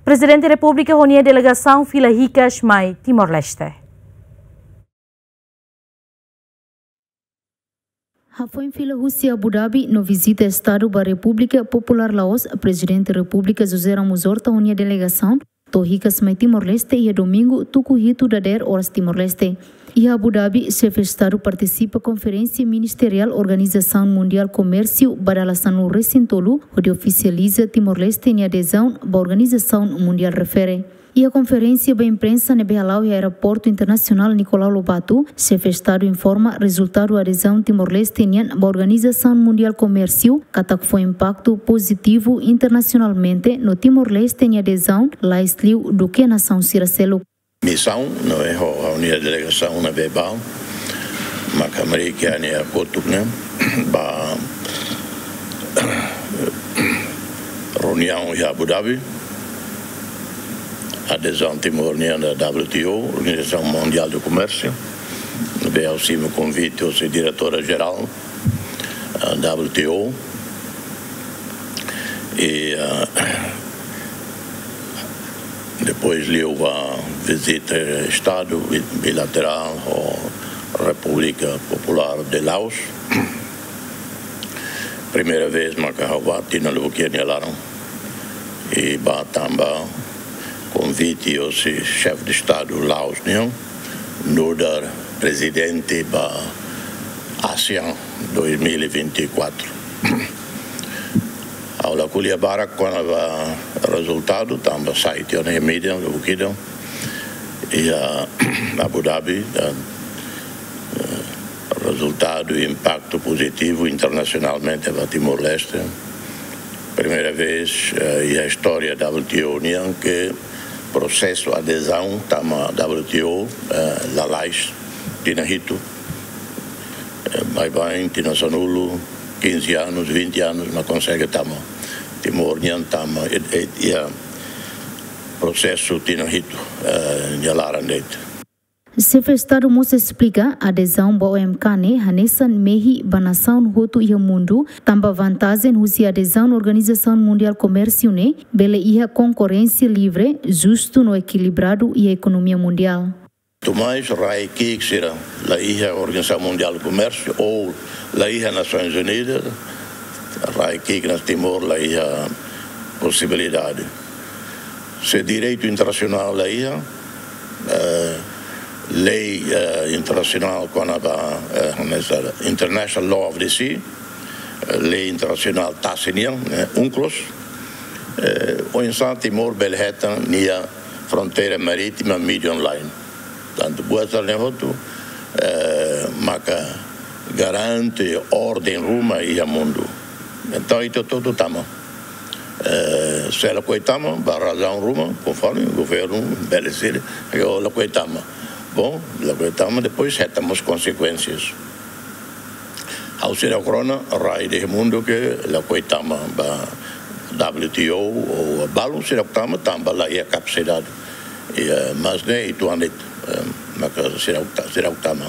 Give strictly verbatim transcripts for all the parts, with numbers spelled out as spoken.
Prezidente Repúblika ho nia delegasaun fila hikas mai Timor-Leste. Hafoin fila husi Abu Dhabi no vizita Estadu ba Repúblika Populár Laos, Prezidente Repúblika José Ramos Horta ho nia delegasaun to'o hikas mai Timor-Leste iha domingu tuku hitu dadeer oras Timor-Leste. Iha Abu Dhabi, Xefe Estadu partisipa Konferénsia Ministeriál Organizasaun Mundiál Komérsiu ba dala sanulu-resin-tolu, hodi ofisializa Timor-Leste nia adezaun ba organizasaun mundiál refere. Iha konferénsia ba imprensa ne'ebé hala'o iha Aeroportu Internasionál Nicolau Lobato, Xefe Estadu informa rezultadu adezaun Timor-Leste nian ba Organizasaun Mundiál Komérsiu, katak fó impaktu pozitivu internasionalmente no Timor-Leste nia adezaun lais liu duké nasaun sira seluk. Misaun, no é ho, ho nia delegasaun ne'ebé bá, maka mari ke nia kotuk ne'e, ba reuniaun iha Abu Dhabi, adezaun Timor nian ba W T O, Organizasaun Mundiál de Komérsiu, ne'ebé ha'u simu konvite husi Diretora Jerál, ah, W T O. I, ah, depois liu ba vizita Estadu bi-, bilaterál ho Repúblika Populár de Laos. Primeira vez maka ha'u bá tinan lubuk iha nia laran. I bá tanba konvite husi Xefe de Estadu Laos nian, nu'udar prezidente ba ASEAN dois mil e vinte e quatro. Ha'u la ko'alia barak kona-ba rezultadu, tanba sai tiha ona iha mídia, lubuk ida, iha Abu Dhabi, dan, eh, rezultadu, impaktu pozitivu internasionalmente ba Timor-Leste. Primeira vez, eh, iha istória W T O nian ke prosesu adezaun tama W T O, eh, lalais, tinan hitu. Eh, baibain, tinan sanulu, quinze anos, vinte anos, mak konsege tama. Timor nian tama, eh, eh, iha prosesu tinan hitu, eh, nia laran de'it. Xefe Estadu mós esplika, adezaun ba O M K ne'e hanesan mehi ba nasaun hotu iha mundu, tanba vantajen husi adezaun Organizasaun Mundiál Komérsiu ne'e, bele iha konkorrénsia livre, justu no ekilibradu iha ekonomia mundiál. Tumais rai ki'ik sira la iha Organizasaun Mundiál Komérsiu ou la iha Nasoins Unidas, rai ki'ik iha Timor la iha posibilidade. Se direitu internasionál la iha, eh, lei, eh, internasionál kona-ba, eh, hanesan International Law of the Sea, eh, lei internasionál tasi nian, eh, UNCLOS, eh, oinsá Timor bele hetan nia fronteira marítima median line. Tantu buat sira-ne'e hotu, eh, maka garante orden ruma iha mundu. Entaun, ita hotu tama. Eh, se lakohi tama, ba razaun ruma, konforme governu bele sira, lakohi tama. Bom, lakohi tama, depois hetan mós konsekuénsias. Ha'u seidauk rona rai iha mundu ke lakohi tama ba W T O ou balu seidauk tama tanba la iha kapasidade. Iha, mas ne'e uitoan de'it, eh, maka seidauk ta-, seidauk tama.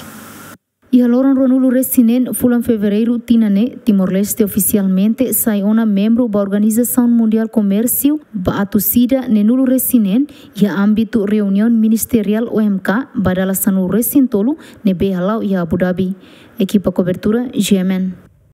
Iha loron ruanulu-resin-neen fulan Fevereiru tinan ne'e, Timor-Leste ofisialmente sai ona membru ba Organizasaun Mundiál Komérsiu ba atus ida neenulu-resin-neen, iha ámbitu reuniaun ministeriál O M K ba dala sanulu-resin-tolu ne'ebé hala'o iha Abu Dhabi. Ekipa kobertura, G M N.